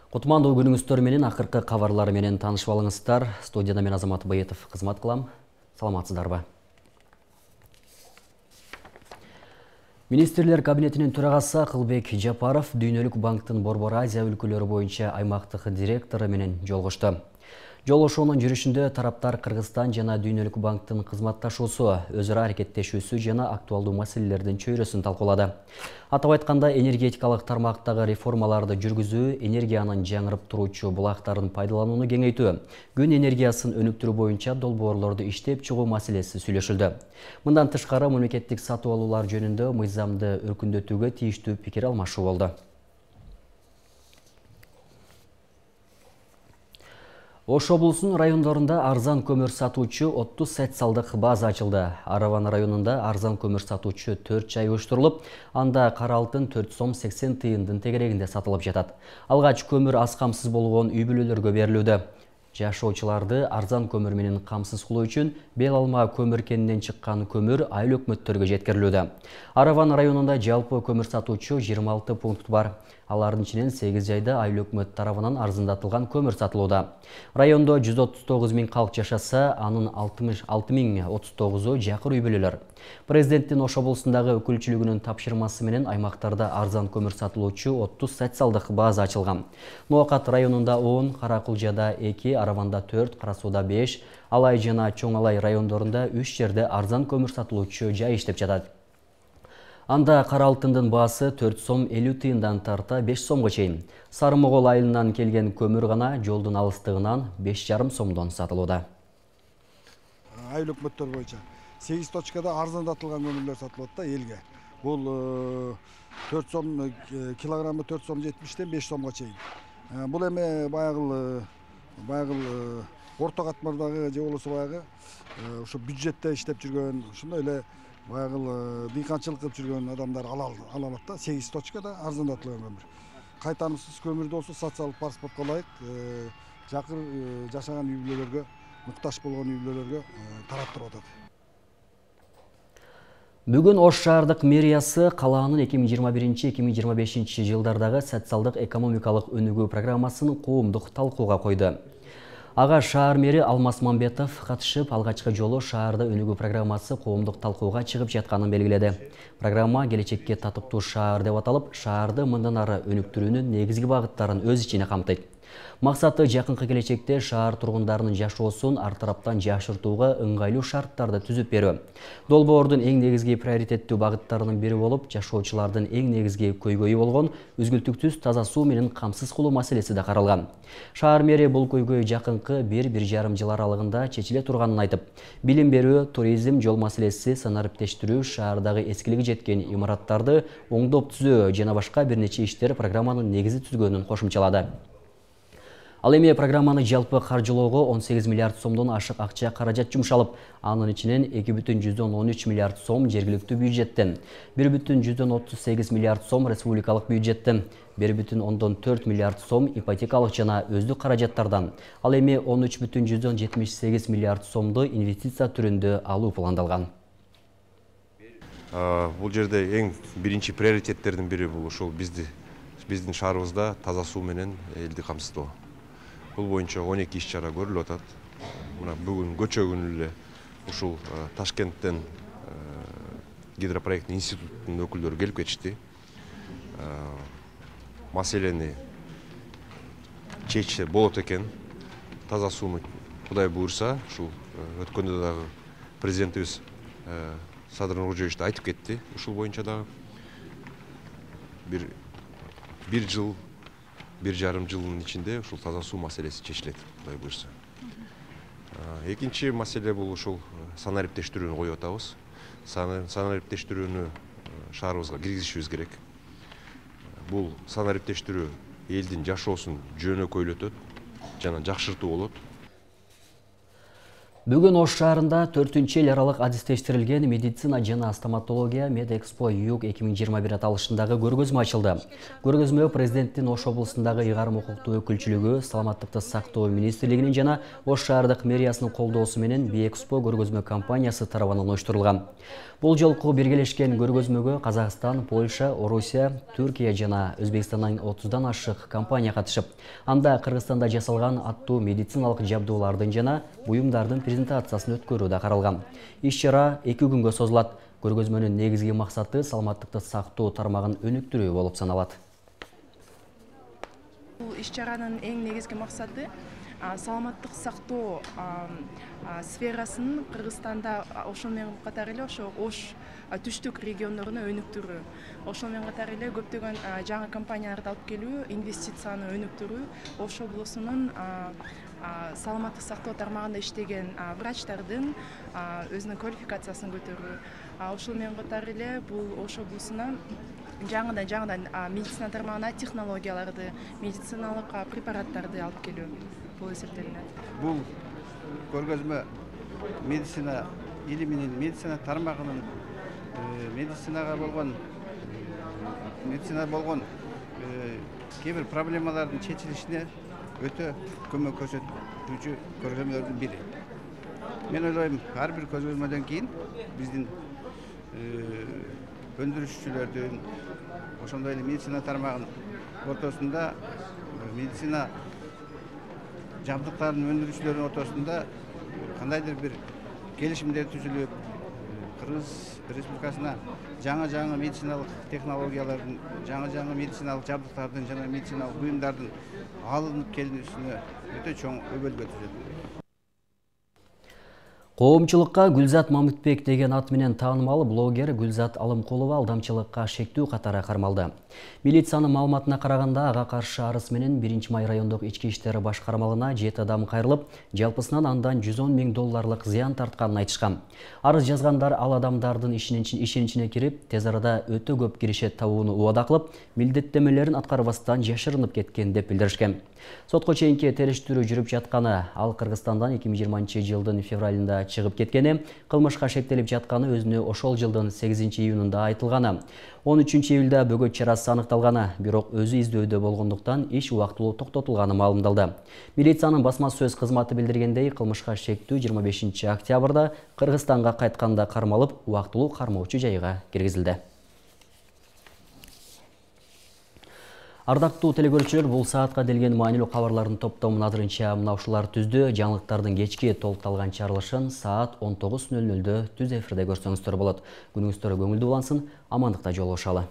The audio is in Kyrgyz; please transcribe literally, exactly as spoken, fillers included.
Кутмандуу күнүңүздөр менен акыркы кабарлар менен таанышып алыңыздар. Студияда мен Азамат Байетов кызмат кылам. Саламатсыздарбы? Министрлер кабинетинин төрагасы Акылбек Жапаров Дүйнөлүк банктын Борбор Азия өлкөлөрү боюнча аймактык директору менен жолугушту. Жолугушуунун жүрүшүндө тараптар Кыргызстан жана Дүйнөлүк банктын кызматташуусу, өз ара аракеттешүүсү жана актуалдуу маселелердин чөйрөсүн талкуулады. Атап айтканда, энергетикалык тармактагы реформаларды жүргүзүү, энергиянын жаңырып туруучу булактарын пайдаланууну кеңейтүү, күн энергиясын өнүктүрүү боюнча долбоорлорду иштеп чыгуу маселеси сүйлөшүлдү. Мындан тышкары мамлекеттик сатып алуулар жөнүндө мыйзамды өркүндөтүүгө тийиштүү пикир алмашуу болду. Ош облусунун райондорунда арзан көмүр сатуучу отуз социалдык база ачылды. Араван районунда арзан көмүр сатуучу төрт жай уюштурулуп, анда кара алтын төрт сом сексен тыйындын тегерегинде сатылып жатат. Алгач көмүр аз камсыз болгон үй бүлөлөргө берилүүдө. Жашоочуларды арзан көмүр менен камсыз кылуу үчүн бел алма көмүр кенинен чыккан көмүр айыл өкмөттөргө жеткирилүүдө. Араван районунда жалпы көмүр сатуучу жыйырма алты пункт бар. Алардын ичинен сегиз жайда айыл өкмөт тарабынан арзандатылган көмүр сатылууда. Райондо жүз отуз тогуз миң калк жашаса, анын алтымыш алты миң отуз тогузу жакыр үй бүлөлөр. Президенттин Ош облусундагы өкүлчүлүгүнүн тапшырмасы менен аймактарда арзан көмүр сатылуучу отуз социалдык база ачылган. Ноокат районунда он, Каракулжада эки, Араванда төрт, Кара Сууда беш, Алай жана Чоң Алай райондорунда үч жерде арзан көмүр сатылуучу жай иштеп жатат. Анда кара алтындын баасы төрт сом элүү тыйындан тарта беш сомго чейин. Сары Могол айылынан келген көмүр гана жолдун алыстыгынан беш жарым сомдон сатылууда. Айыл өкмөттөр боюнча сегиз точкада арзандатылган көмүрлөр сатылат да элге. Бул төрт сом килограммы төрт сом жетимиштен беш сомго чейин. Бул эми баягы баягы орто катмардагы же болбосо баягы ушу бюджетте иштеп жүргөн, ошондой эле баягы дыйканчылык кылып жүргөн адамдар ала алат да. сегиз точкада арзандатылган көмүр. Кайтарымсыз көмүрдү болсо социалдык паспортко ылайык жакыр жашаган үй бүлөлөргө, муктаж болгон үй бүлөлөргө таратып атат. Бүгүн Ош шаардык мэриясы калаанын эки миң жыйырма биринчи — эки миң жыйырма бешинчи жылдардагы социалдык экономикалык өнүгүү программасын коомдук талкууга койду. Ага шаар мэри Алмаз Мамбетов катышып, алгачкы жолу шаарда өнүгүү программасы коомдук талкууга чыгып жатканын белгиледи. Программа келечекке татыктуу шаар деп аталып, шаарды мындан ары өнүктүрүүнүн негизги багыттарын өз ичине камтыйт. Максаты жакынкы келечекте шаар тургундарынын жашоосун ар тараптан жакшыртууга ыңгайлуу шарттарды түзүп берүү. Долбоордун эң негизги приоритеттүү багыттарынын бири болуп, жашоочулардын эң негизги көйгөйү болгон үзгүлтүктүз таза суу менен камсыз кылуу маселеси да каралган. Шаар мэри бул көйгөй жакынкы бир бир жарым жыл аралыгында чечиле турганын айтып, билим берүү, туризм, жол маселеси, санариптештирүү, шаардагы эскилиги жеткен имараттарды оңдоп түзөө жана башка бир нече иштер программанын негизи түзгөнүн кошумчалады. Ал эми программаны жалпы каржылоого он сегиз миллиард сомдон ашык акча каражат жумшалып, анын ичинен эки бүтүн жүздөн он үч миллиард сом жергиликтүү бюджеттен, бир бүтүн жүздөн отуз сегиз миллиард сом республикалык бюджеттен, бир бүтүн ондон төрт миллиард сом ипотекалык жана өздүк каражаттардан, ал эми он үч бүтүн жүздөн жетимиш сегиз миллиард сомду инвестиция түрүндө алуу пландалган. Бул жерде эң биринчи приоритеттердин бири бул ушул бизди биздин шаарыбызда таза суу менен элди камсыздоо. Бул боюнча он эки иш-чара көрүлүп атат. Мына бүгүн көчө күнү эле ушул Ташкенттен гидропроекттин институттун өкүлдөрү келип кетишти. Маселени чечсе болот экен. Таза сууну Кудай буйрса, ушул өткөндө дагы президентибиз Садыр Нуркожоевич да айтып кетти. Ушул боюнча дагы бир бир жыл бир жарым жылдын ичинде ушул таза суу маселеси чечилет, Кудай буйрса. Экинчи маселе бул ушул санариптештирүүнү коюп атабыз. Санариптештирүүнү шаарыбызга киргизишибиз керек. Бул санариптештирүү элдин жашоосун жөнөкөйлөтөт жана жакшыртуу болот. Бүгүн Ош шаарында төртүнчү эл аралык адистештирилген медицина жана стоматология Медэкспо Юг эки миң жыйырма бир аталышындагы көргөзмө ачылды. Көргөзмө президенттин Ош облусундагы ыйгарым укуктуу өкүлчүлүгү, саламаттыкты сактоо министрлигинин жана Ош шаардык мэриясынын колдоосу менен Биэкспо көргөзмө компаниясы тарабынан уюштурулган. Бул жолку биргелешкен көргөзмөгө Казакстан, Польша, Орусия, Түркия жана Өзбекстандан отуздан ашык компания катышып, анда Кыргызстанда жасалган аттуу медициналык жабдуулардын жана буюмдардын презентациясын өткөрүү да каралган. Иш-чара эки күнгө созулат. Көргөзмөнүн негизги максаты саламаттыкты сактоо тармагын өнүктүрүү болуп саналат. Бул иш-чаранын эң негизги максаты саламаттык сактоо сферасын Кыргызстанда ошол менен катар эле ошо Ош түштүк региондоруна өнүктүрүү. Ошол менен катар эле көптөгөн жаңы компанияларды алып келүү, инвестицияны өнүктүрүү, Ош облусунун саламаттык сактоо тармагында иштеген врачтардын өзүнүн квалификациясын көтөрүү. Ошол менен катар эле бул Ош облусуна жаңыдан жаңыдан медицина тармагына технологияларды, медициналык препараттарды алып келүү бул эсептелинет. Бул көргөзмө медицина илиминин, медицина тармагынын медицинага болгон медицина болгон кээ бир проблемалардын чечилишине өтө көмөк көрсөтүүчү көргөзмөлөрдүн бири. Мен ойлойм, ар бир көргөзмөдөн кийин биздин өндүрүшчүлөрдүн, ошондой эле медицина тармагынын ортосунда, медицина жабдыктарын өндүрүүчүлөрдүн ортосунда кандайдыр бир келишимдер түзүлүп, Кыргыз Республикасына жаңы-жаңы медициналык технологиялардын, жаңы-жаңы медициналык жабдыктардын жана медициналык буюмдардын алынып келүүсүнө өтө чоң өбөлгө түзөт. Коомчулукка Гүлзат Мамытбек деген ат менен таанымал блогер Гүлзат Алымкулова алдамчылыкка шектүү катары кармалды. Милициянын маалыматына караганда, ага каршы арыз менен биринчи май райондук ички иштер башкармалыгына жети адам кайрылып, жалпысынан андан жүз он миң долларлык зыян тартканын айтышкан. Арыз жазгандар ал адамдардын ишеничине кирип, тез арада өтө көп киришет табууну убада кылып, милдеттенмелерин аткарбастан жашырынып кеткен деп билдиришкен. Сотко чейинки териштирүү жүрүп жатканы, ал Кыргызстандан эки миң жыйырманчы жылдын февралында чыгып кеткени, кылмышка шектелип жатканы өзүнө ошол жылдын сегизинчи июнунда айтылганы. он үчүнчү июлда бөгөт чарасы аныкталганы, бирок өзү издөөдө болгондуктан иш убактылуу токтотулганы маалымдалды. Милициянын басма сөз кызматы билдиргендей, кылмышка шектүү жыйырма бешинчи октябрда Кыргызстанга кайтканда кармалып, убактылуу кармоочу жайга киргизилди. Ардактуу телекөрүүчүлөр, бул саатка делген маанилүү кабарлардын топтомун азырынча мына ушулар түздү. Жаңылыктардын кечки толукталган чарылышын саат он тогуз нөл нөлдө түз эфирде көрсөңүздөр болот. Күнүңүздөр көңүлдүү улансын, амандыкта жолугушалы.